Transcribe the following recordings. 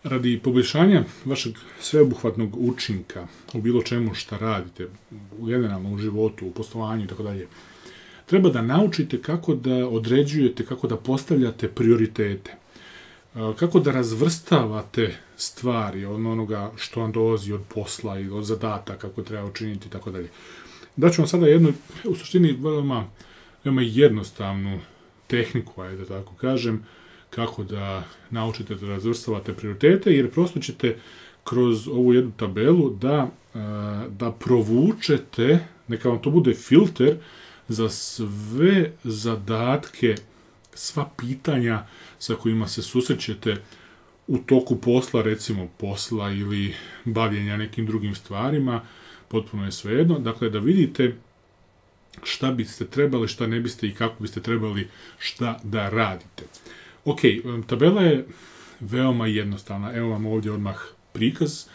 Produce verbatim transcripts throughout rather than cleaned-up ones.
Radi poboljšanja vašeg sveobuhvatnog učinka u bilo čemu šta radite, u generalno u životu, u poslovanju i tako dalje, treba da naučite kako da određujete, kako da postavljate prioritete, kako da razvrstavate stvari od onoga što vam dolazi od posla i od zadataka, kako treba učiniti i tako dalje. Daću vam sada jednu, u suštini, veoma, veoma jednostavnu tehniku, ajde da tako kažem, kako da naučite da razvrstavate prioritete, jer prosto ćete kroz ovu jednu tabelu da, da provučete, neka vam to bude filter za sve zadatke, sva pitanja sa kojima se susrećete u toku posla, recimo posla ili bavljenja nekim drugim stvarima, potpuno je svejedno. Dakle, da vidite šta biste trebali, šta ne biste i kako biste trebali šta da radite. Ok, tabela je veoma jednostavna. Evo vam ovdje odmah prikaz.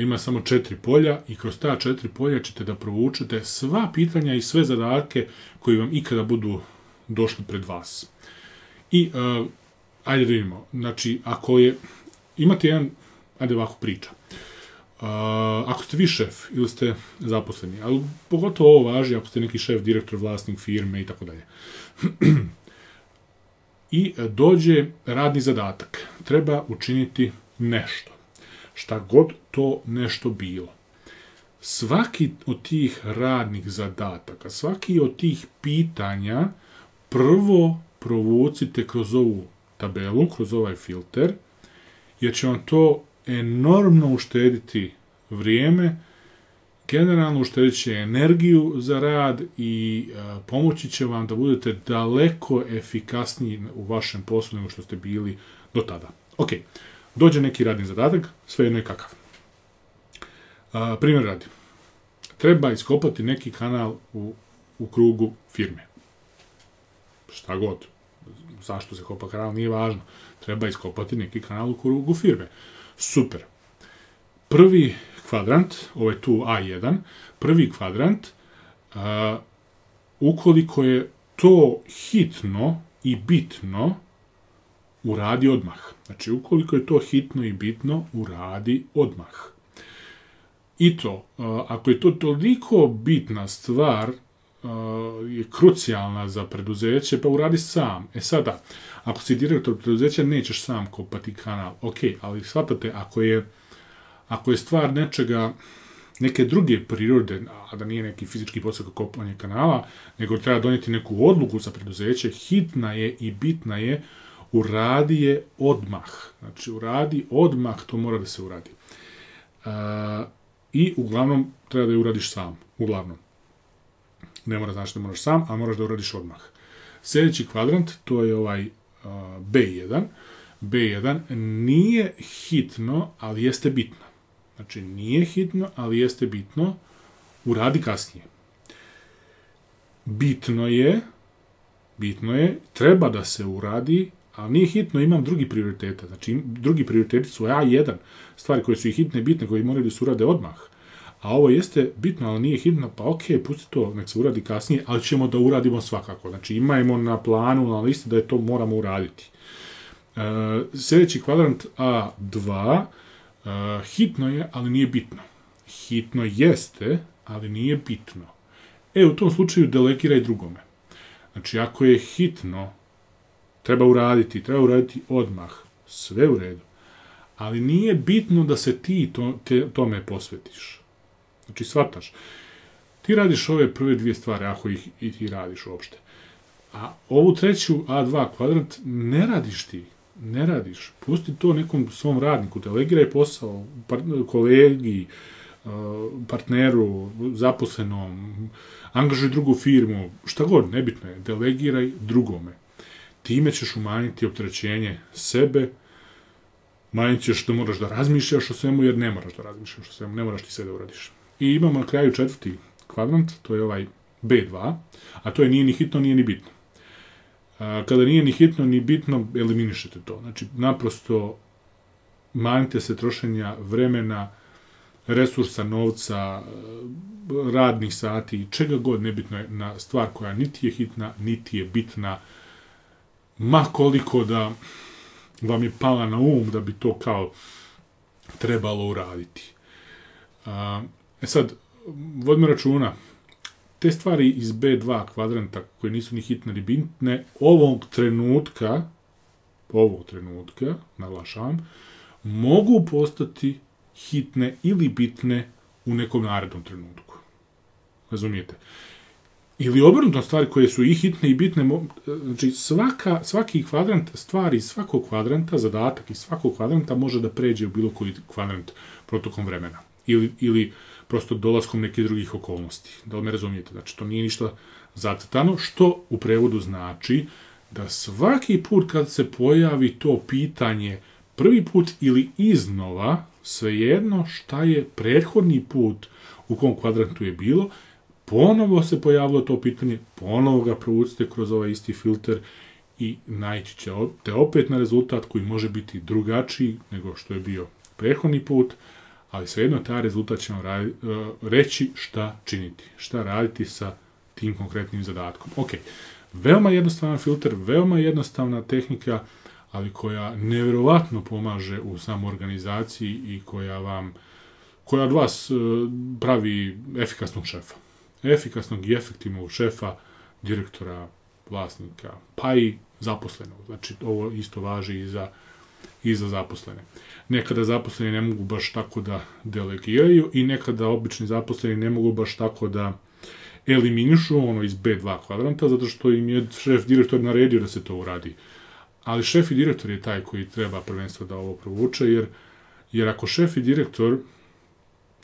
Ima samo četiri polja i kroz ta četiri polja ćete da provučete sva pitanja i sve zadatke koji vam ikada budu došli pred vas. I, uh, ajde da vidimo, znači, ako je, imate jedan, ajde ovako priča, uh, ako ste vi šef ili ste zaposleni, ali pogotovo ovo važi ako ste neki šef, direktor, vlasnik firme i tako dalje. I dođe radni zadatak. Treba učiniti nešto. Šta god to nešto bilo. Svaki od tih radnih zadataka, svaki od tih pitanja prvo provucite kroz ovu tabelu, kroz ovaj filter, jer će vam to enormno uštediti vrijeme, generalno uštedit će energiju za rad i a, pomoći će vam da budete daleko efikasniji u vašem poslu nego što ste bili do tada. Ok, dođe neki radni zadatak, svejedno je kakav. A, primjer radi. Treba iskopati neki kanal u, u krugu firme. Šta god. Zašto se kopa kanal, nije važno. Treba iskopati neki kanal u krugu firme. Super. Prvi kvadrant, ovo je tu A jedan, prvi kvadrant, a, ukoliko je to hitno i bitno, uradi odmah. Znači, ukoliko je to hitno i bitno, uradi odmah. I to, a, ako je to toliko bitna stvar, je krucijalna za preduzeće, pa uradi sam. E sada, ako si direktor preduzeća, nećeš sam kopati kanal. Ok, ali shvatate, ako je, ako je stvar nečega, neke druge prirode, a da nije neki fizički posao kao kopanje kanala, nego treba donijeti neku odluku za preduzeće, hitna je i bitna je, uradi je odmah. Znači, uradi odmah, to mora da se uradi. Uh, I uglavnom, treba da je uradiš sam. Uglavnom. Ne mora znači da moraš sam, a moraš da uradiš odmah. Sljedeći kvadrant, to je ovaj uh, B jedan. B jedan nije hitno, ali jeste bitno. Znači, nije hitno, ali jeste bitno. Uradi kasnije. Bitno je, bitno je, treba da se uradi, ali nije hitno, imam drugi prioriteta. Znači, drugi prioriteti su A jedan. Stvari koje su i hitne, bitne, koje moraju da se urade odmah. A ovo jeste bitno, ali nije hitno, pa ok, pusti to, nek se uradi kasnije, ali ćemo da uradimo svakako. Znači, imajmo na planu, na listi da je to moramo uraditi. E, sljedeći kvadrant A dva, e, hitno je, ali nije bitno. Hitno jeste, ali nije bitno. E, u tom slučaju delegiraj drugome. Znači, ako je hitno, treba uraditi, treba uraditi odmah, sve u redu. Ali nije bitno da se ti to, te, tome posvetiš. Znači, shvataš. Ti radiš ove prve dvije stvari, ako ih i ti radiš uopšte. A ovu treću A dva kvadrant ne radiš ti. Ne radiš. Pusti to nekom svom radniku. Delegiraj posao kolegi, partneru, zaposlenom, angažuj drugu firmu, šta god, nebitno je. Delegiraj drugome. Time ćeš umanjiti opterećenje sebe, manjit ćeš da moraš da razmišljaš o svemu, jer ne moraš da razmišljaš o svemu, ne moraš ti sve da uradiš. I imamo na kraju četvrti kvadrant, to je ovaj B dva, a to je nije ni hitno, nije ni bitno. A, kada nije ni hitno, ni bitno, eliminišete to. Znači, naprosto manjite se trošenja vremena, resursa, novca, radnih sati, čega god nebitno je na stvar koja niti je hitna, niti je bitna, ma koliko da vam je pala na um da bi to kao trebalo uraditi. E sad, vodimo računa, te stvari iz be dva kvadranta koje nisu ni hitne ni bitne, ovog trenutka, ovog trenutka, naglašavam, mogu postati hitne ili bitne u nekom narednom trenutku. Razumijete? Ili obrnuto, stvari koje su i hitne i bitne, znači svaka, svaki kvadrant stvari iz svakog kvadranta, zadatak iz svakog kvadranta može da pređe u bilo koji kvadrant protokom vremena. Ili, ili prosto dolaskom nekih drugih okolnosti. Da li me razumijete? Znači, to nije ništa zacrtano, što u prevodu znači da svaki put kad se pojavi to pitanje prvi put ili iznova, svejedno šta je prethodni put u kom kvadrantu je bilo, ponovo se pojavilo to pitanje, ponovo ga provucite kroz ovaj isti filter i naići ćete opet na rezultat koji može biti drugačiji nego što je bio prethodni put, ali svejedno taj rezultat će vam radi, reći šta činiti, šta raditi sa tim konkretnim zadatkom. Ok, veoma jednostavan filter, veoma jednostavna tehnika, ali koja nevjerovatno pomaže u samoorganizaciji i koja vam, koja od vas pravi efikasnog šefa. Efikasnog i efektivnog šefa, direktora, vlasnika, pa i zaposlenog. Znači, ovo isto važi i za, i za zaposlene. Nekada zaposleni ne mogu baš tako da delegiraju i nekada obični zaposleni ne mogu baš tako da eliminišu ono iz be dva kvadranta, zato što im je šef direktor naredio da se to uradi. Ali šef i direktor je taj koji treba prvenstvo da ovo provuče, jer, jer ako šef i direktor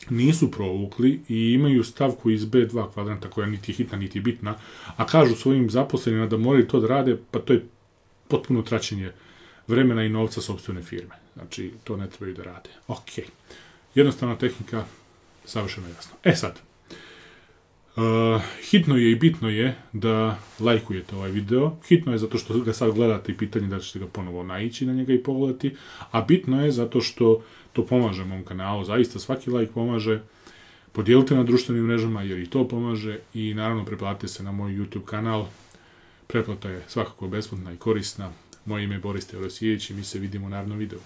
nisu provukli i imaju stavku iz be dva kvadranta koja niti je hitna, niti je bitna, a kažu svojim zaposlenima da moraju to da rade, pa to je potpuno traćenje vremena i novca sopstvene firme. Znači, to ne trebaju da rade. Ok. Jednostavna tehnika, savršeno jasno. E sad, uh, hitno je i bitno je da lajkujete ovaj video. Hitno je zato što ga sad gledate i pitanje da ćete ga ponovo naići na njega i pogledati, a bitno je zato što to pomaže mom kanalu. Zaista svaki lajk pomaže. Podijelite na društvenim mrežama jer i to pomaže i naravno pretplatite se na moj YouTube kanal. Pretplata je svakako besplatna i korisna. Moje ime je Boris Teodosijević i mi se vidimo u narednom videu.